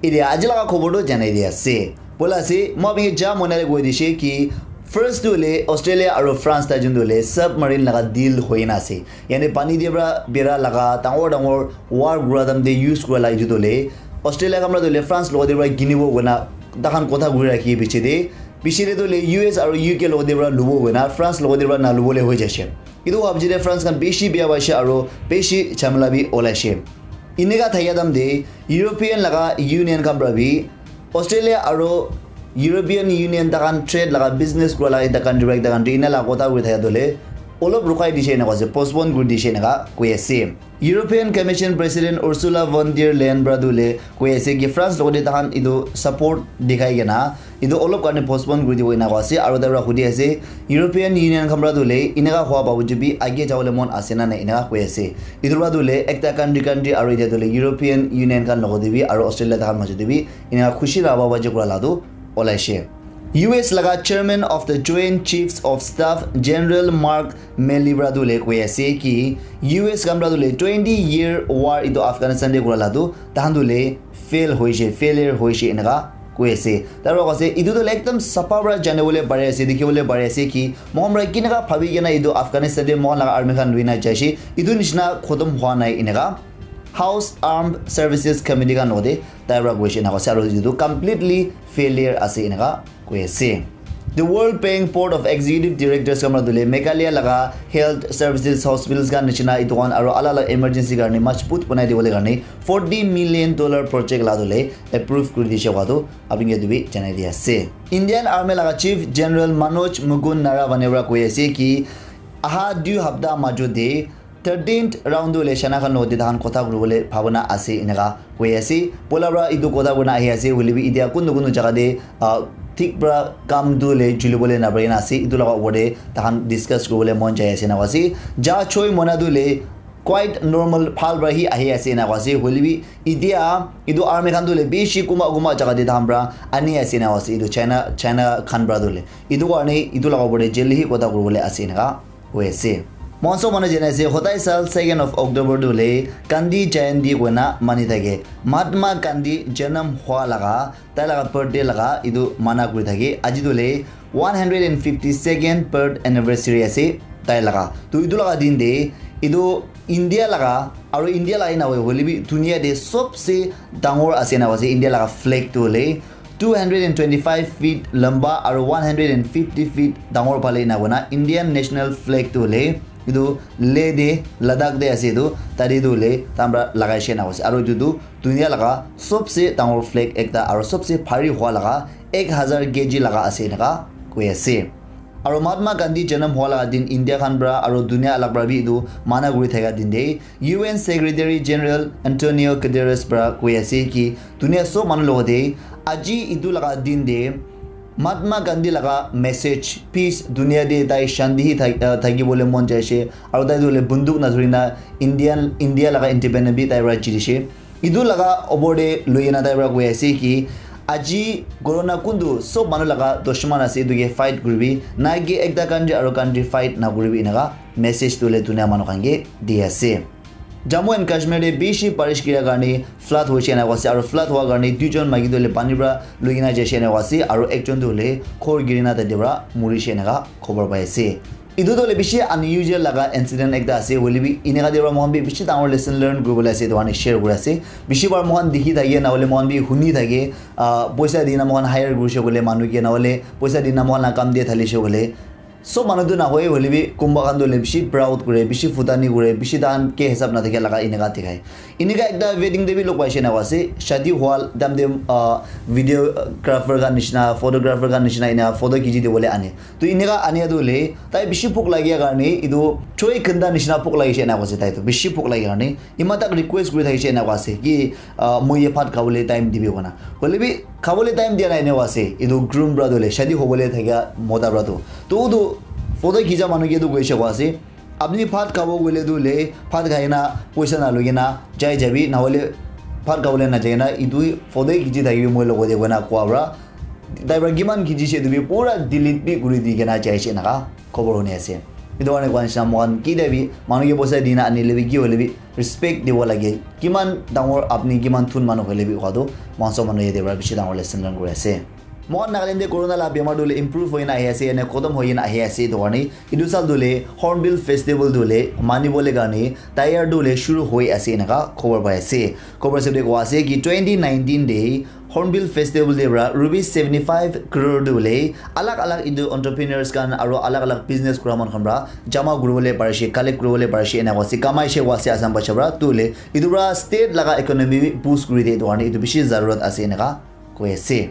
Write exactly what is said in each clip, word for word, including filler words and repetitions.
Etia aji laga khobor tu janai di ase. Bola ase, moi apni ke ja mona le koi dishe ki first tu le Australia aru France ta jun tu le submarine laga deal hoi na ase. Yani pani de pra bera laga dangor dangor war gura dam de use gura la itu tu le Australia kamra tu le France logo de pra gini bo gona dahan kotha guri rakhi biche de. Biche de tu le U S aru U K logo de pra lubo gona France logo de pra na lubo le hoi jashe. Itu habji de France kan bishi biya baishe aru bishi chamla bi olaishe. Ineka thaya dam de European laga Union kan pra bi Australia aru European Union takan trade laga business kura laga ekta country pra ekta country ina laga kotha kuri thaya dole olop rukai dishe ena koi ase, postpone kuri dishe ena koi ase. European Commission President Ursula von der Leyen pra dole koi ase ki France logote takan itu support dikhai kena itu olop karne postpone kuri dibo ena koi ase aru tai pra hudi ase European Union khan pra dole ineka hua babu jubi age jawole mon ase na na ineka koi ase. Itu pra dole ekta country country aru ite dole European Union khan logote bi aru Australia takan majote bi ina khushi la baba je kura la tu olaishe. U S laga Chairman of the Joint Chiefs of Staff General Mark Milley pra tu le koi ase ki U S kan pra tu le twenty year war itu Afghanistan de kura la tu tahan tu le fail hoishe, failure hoishe eneka koi ase. Tar pra koi ase itu tu le ekdam sapa pra jane bole pare ase, dikhi bole pare ase ki mohan pra kineka bhabi kena itu Afghanistan de mohan laga army khan lui na jaishe itu nishina khotom hua nai eneka. House Armed Services Committee khan logote tai pra koishe ena koise aru etu completely failure ase eneka koi ase. The World Bank Board of Executive Directors khan pra dule Meghalaya laga health services hospitals khan nishina itu khan aru ala ala emergency karne majbut banai dibole karne forty million dollar project la dule approve kuri dishe koa tu apni ke etu bi janai di ase. Indian Army laga Chief General Manoj Mukund Naravane pra koi ase ki aha dui hapta majo de thirteenth round tu hoile China khan logote tahan kotha kuribole bhabana ase eneka koi ase. Poila pra etu kotha kurina ahi ase hoile bi itia kuntu kuntu jaga te ah, thik pra kam tu hoile julibole naparina ase. Etu laga opor te tahan discuss kuribole mon jai ase eneka ase. Ja choi mona tu hoile quite normal bhal pra hi ahi ase eneka ase. Hoile bi itia etu army khan tu hoile bishi kunba kunba jaga te tahan pra ani ase eneka ase. Etu China China khan pra tu hoile etu karne etu laga opor te jail hi kotha kuribole ase eneka. Hoi ase. Moi sob manu jane ase, hodai sal second of October tu hoile Gandhi Jayanti koina mani thake. Mahatma Gandhi janam hua laga, tai laga birthday laga etu mana kuri thake. Aji tu hoile one hundred and fifty second birth anniversary ase tai laga. Tu etu laga din te etu India laga aru India laga hi na hoi hoile bi dunia te sobse dangor ase na ase India laga flag tu hoile two hundred and twenty-five feet lamba aru one hundred and fifty feet dangor phale ena koina Indian national flag tu hoile etu Leh de Ladakh de ase etu tate tu hoile tamra lagai she na ase aru etu tu dunia laga sobse dangor flag ekta aru sobse bhari hua laga ek hazar K G laga ase eneka koi ase. Aru Mahatma Gandhi janam hua laga din India khan pra aru dunia alak pra bi etu mana kuri thaka din te U N Secretary General Antonio Guterres pra koi ase ki dunia sob manu logote aji etu laga din te Mahatma Gandhi laga message peace dunia te tai shanti hi thak- ah, thaki bole mon jai ase aru tai tu hoile bunduk na dhuri na Indian India laga independent bi tai pra jiti se etu laga opor te lui kena tai pra koi ase ki aji corona kuntu sob manu laga dushman ase etu ke fight kuribi na ki ekta country aru country fight na kuribi eneka message tu hoile dunia manu khan ke di ase. Jammu and Kashmir te bishi barish kira karne flood hoise ena koise aru flood hua karne duijon maiki tu hoile pani pra lui kena jaise ena koise aru ekjon tu hoile ghor giri na tate pra murise eneka khobor pai ase. Etu tu hoile bishi unusual laga incident ekta ase hoile bi eneka te pra moikhan bi bishi dangor lesson learn kuribole ase etu karne share kuri ase. Bishi bar moikhan dikhi thake na hoile moikhan bi huni thake ah, poisa di na moikhan hire kurise koile manu ke na hoile poisa di na moikhan la kam dia thalise koile sob manu tu nahoi hoile bi kunba khan tu hoile bishi proud kure bishi futani kure bishi tahan ke hisab na thake laga eneka dikhai. Eneka ekta wedding te bi log paise eneka ase shadi hua time te ah, videographer khan nishina photographer khan nishina ena photo khichi dibole ane. To eneka ania tu hoile tai bishi bhuk lagia karne etu choi khanda nishina bhuk lagise ena koise tai tu bishi bhuk lagia karne eman tak request kuri thakise ena koise ki ah, moi ye bhat khabole time dibi kona hoile bi khabole time dia nai ena koise etu groom pra tu hoile shadi hobole thakia mota pra tu to utu photo khicha manu ke tu koise koise apni bhat khabo koile tu hoile bhat khai na poisa na loi kena jai jabi na hoile bhat khabole na jai na etu photo khichi thakibi moi logote koina koa pra tai pra kiman khichi se etu bi pura delete bi kuri di kena jai se eneka khobor huni ase. Etu karne koa nishina moikhan kitia bi manu ke poisa dina anile bi ki hoile bi respect dibo lage. Kiman dangor apni kiman thun manu hoile bi koa tu moikhan sob manu yate para bishi dangor lesson learn kuri ase. Moikhan Nagaland te corona la bemar tu le improve hoina ahi ase, ene khotom hoina ahi ase. Etu karne etu sal tu le Hornbill Festival tu le manibole karne tayar tu le shuru hoi ase eneka khobor pai ase. Khobor sabde koa ase ki twenty nineteen te Hornbill Festival te para rupees seventy five crore tu le alag alag etu entrepreneurs khan aro alag alag business kura manu khan para jama kuribole parishe, collect kuribole parishe, eneka ase, kamai she koa ase Assam Bhaja para. Tu le etu para state laga economy bi boost kuri de, etu karne etu bishi zarurat ase eneka koi ase.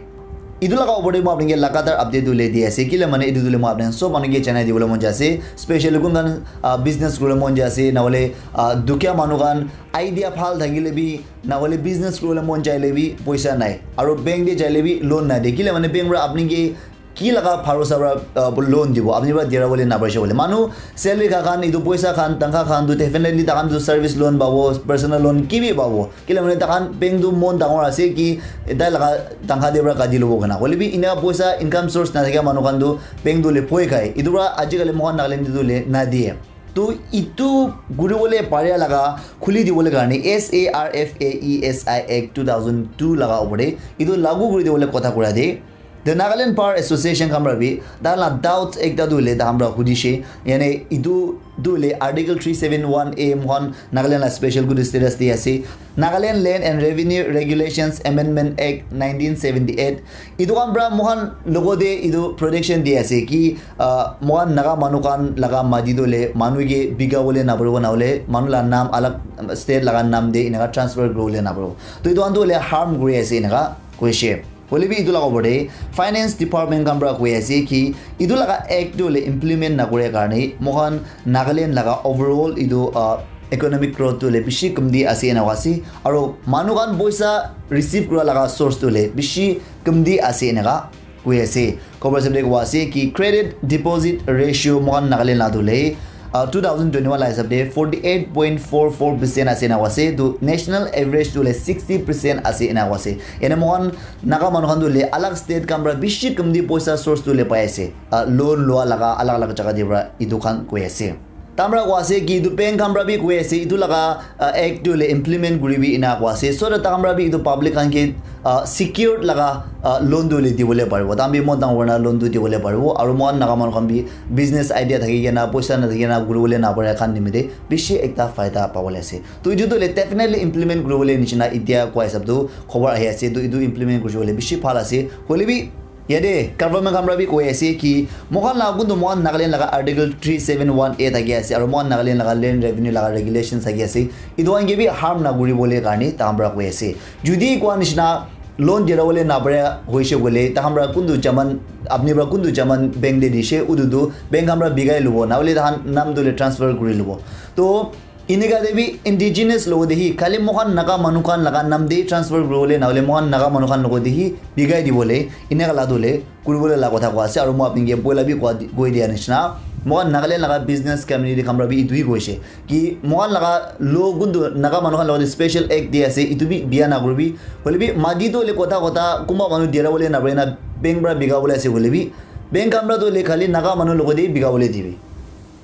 Etu laga opor te moi apni ke lagatar update tu le di ase, kile mane etu tu le moi apni sob manu ke janai dibole mon jai ase, specially kun khan ah, business kuribole mon jai ase, na hole ah, dukhia manu khan idea bhal thakile bi, na hole business kuribole mon jaile bi poisa nai, aro bank te jaile bi loan nai de, kile mane bank para apni ke ki laga bharosa para ah, loan dibo, apni para dera bole na paise bole. Manu salary kha khan, etu poisa khan, tangkha khan tu definitely takhan tu service loan pabo, personal loan ki bi pabo. Kile mane takhan bank tu mon dangor ase ki tai laga tangkha de para kati lobo kana. Hoile bi ena poisa income source na thakia manu khan tu bank tu le poi khai. Etu para ajikali moikhan Nagaland te tu le na diye. To etu kuribole paria laga khuli dibole karne S A R F A E S I Act two thousand two laga opor te etu lagu kuri dibole kotha kura de. The Nagaland Power Association khan para bi tai la doubts ekta tu hoile tai khan para hudishe, yane etu tu hoile Article three seven one A moikhan Nagaland la special good status di ase. Nagaland Land and Revenue Regulations Amendment Act nineteen seventy-eight, etu khan para moikhan logo te etu protection di ase ki ah, moikhan Naga manu khan laga mati tu hoile manu ke bika bole na paribo, na hole manu la naam alag state laga naam te eneka transfer kuri bole na paribo. To etu khan tu hoile harm kuri ase eneka koishe. Hoile bi etu laga opor te finance department khan para koi ase ki etu laga act tu hoile implement na kore karne moikhan Nagaland laga overall etu ah, economic growth tu hoile bishi kamti ase eneka ase, aro manu khan poisa receive kura laga source tu hoile bishi kamti ase eneka koi ase. Khobor sabde koa ase ki credit deposit ratio moikhan Nagaland la tu hoile ah, two thousand twenty-one la hisab te forty-eight point four four percent ase eneka ase. Tu national average tu hoile sixty percent ase eneka ase. Ene moikhan Naga manu khan tu hoile alag state khan para bishi kamti poisa source tu hoile pai ase. Ah, loan lua laga alag alag jaga te para etu khan koi ase. Tai khan para koi ase ki etu bank khan para bi koi ase, etu laga ah, act tu hoile implement kuri bi ena koi ase. So that tai khan para bi etu public khan ke ah, secured laga ah, loan tu hoile dibole paribo. Tai khan bi mon dangor na loan tu dibole paribo. Aro moikhan Naga manu khan bi business idea thaki kena poisa na thaki kena kuribole na pare khan nimite bishi ekta faida pabole ase. To etu tu hoile definitely implement kuribole nishina etia koi hisab tu khobor ahi ase. To etu implement kuri bole bishi bhal ase. Hoile bi yate government khan para bi koi ase ki moikhan la kuntu moikhan Nagaland laga Article three seven one A thaki ase, aro moikhan Nagaland laga land revenue laga regulations thaki ase, etu khan ke bi harm na kuri bole karne tai khan para koi ase. Judi koi nishina loan dera bole na pare hoise bole, tai khan para kuntu jaman, apni para kuntu jaman bank te dishe, utu tu bank khan para bikai lobo, na hole tai khan naam tu hoile transfer kuri lobo. To eneka te bi indigenous logo te hi, khali moikhan Naga manu khan laga naam te transfer kuribole, na hole moikhan Naga manu khan logo te hi bikai dibole, eneka la tu hoile kuribole la kotha koi ase. Aro moi apni ke poila bi koi dia nishina, moikhan Nagaland laga business community khan para bi etu hi koise ki moikhan laga lo kuntu Naga manu khan logo te special act di ase, etu bi bia na kuribi. Hoile bi mati tu hoile kotha kotha kunba manu dera bole na pare na bank para bika bole ase hoile bi, bank khan para tu hoile khali Naga manu logo te bika bole dibi.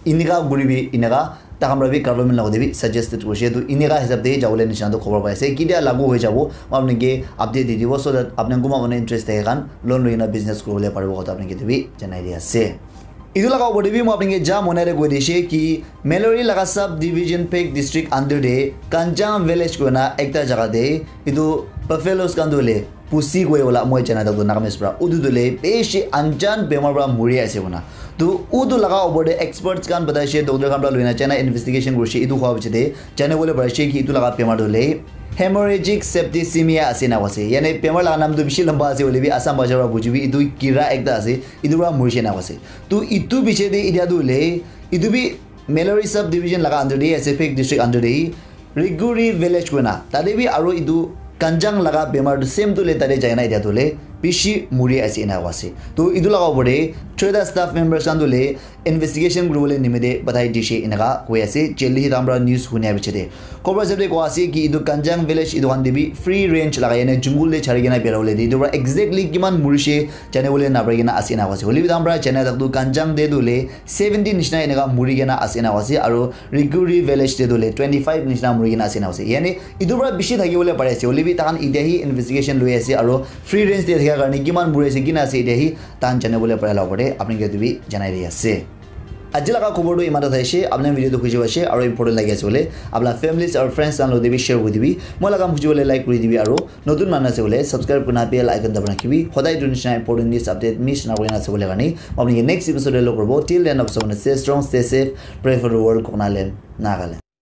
Eneka kuribi, eneka tai khan para bi government logo te bi suggested kurishe. To eneka hisab te jabole nishina to khobor pai ase. Ketia lagu hoi jabo, moi apni ke update di dibo, so that apni kunba manu interest thake khan loan loi kena business kuribole paribo kotha apni ke etu bi janai di ase. Etu laga opor te bi moi apni ke ja monai te koi dishe ki Mallory laga sub division Phek district under te Kanjang village koina ekta jaga te etu buffaloes khan tu hoile pusi koi wala moi jana tak tu Nagamese para. Utu tu hoile bishi anjan bemar para muri ase koina. To utu laga opor te experts khan batai she, doctor khan para loina China investigation kurishe, etu koi piche te jane bole parishe ki etu laga bemar tu hoile hemorrhagic septicemia ase na koi ase. Yane bemar laga naam tu bishi lamba ase hoile bi Assam bhasha para bujibi, etu kira ekta ase, etu para murishe na koi ase. To etu piche te etia tu hoile etu bi Mallory sub division laga under te ase, Phek district under te hi. Riguri village koina, tate bi aro etu Kanjang laga bemar tu same tu le tate jaina etia tu le bishi muri ase ena koa ase. To etu laga opor te choita staff members khan tu le investigation kuribole nimite batai dishe enaka koi ase. Jail te hi tahan para news hunia piche te khobor hisab te koa ase ki etu Kanjang village etu khan te bi free range lagai kena jungle te chari kena birai bole de etu para exactly kiman murishe jane bole napari kena ase ena koa ase. Hoile bi tahan para jana tak tu Kanjang te tu le seventy nishina enaka muri kena ase ena koa ase, aru Riguri village te tu le twenty five nishina muri kena ase ena koa ase. Yani etu para bishi thaki bole pari ase, hoile bi tahan etia hi investigation lui ase aru free range te thaka karne kiman muri ase kina ase etia hi tahan jane bole pari la opor te apni ke tu bi janai di ase. Aji laga khobor tu iman ta thaishe, apni video tu khushi paishe aru important lagi ase bole, apna families aru friends khan logote bi share kuri dibi. Moi laga kam khushi bole like kuri dibi aru notun manu ase bole subscribe kurna bell icon dabai rakhibi. Hodai etu nishina important news update miss na kurina ase bole karne apni ke next episode te log koribo. Till then, stay strong, stay safe, pray for the world, Koknaland, Nagaland.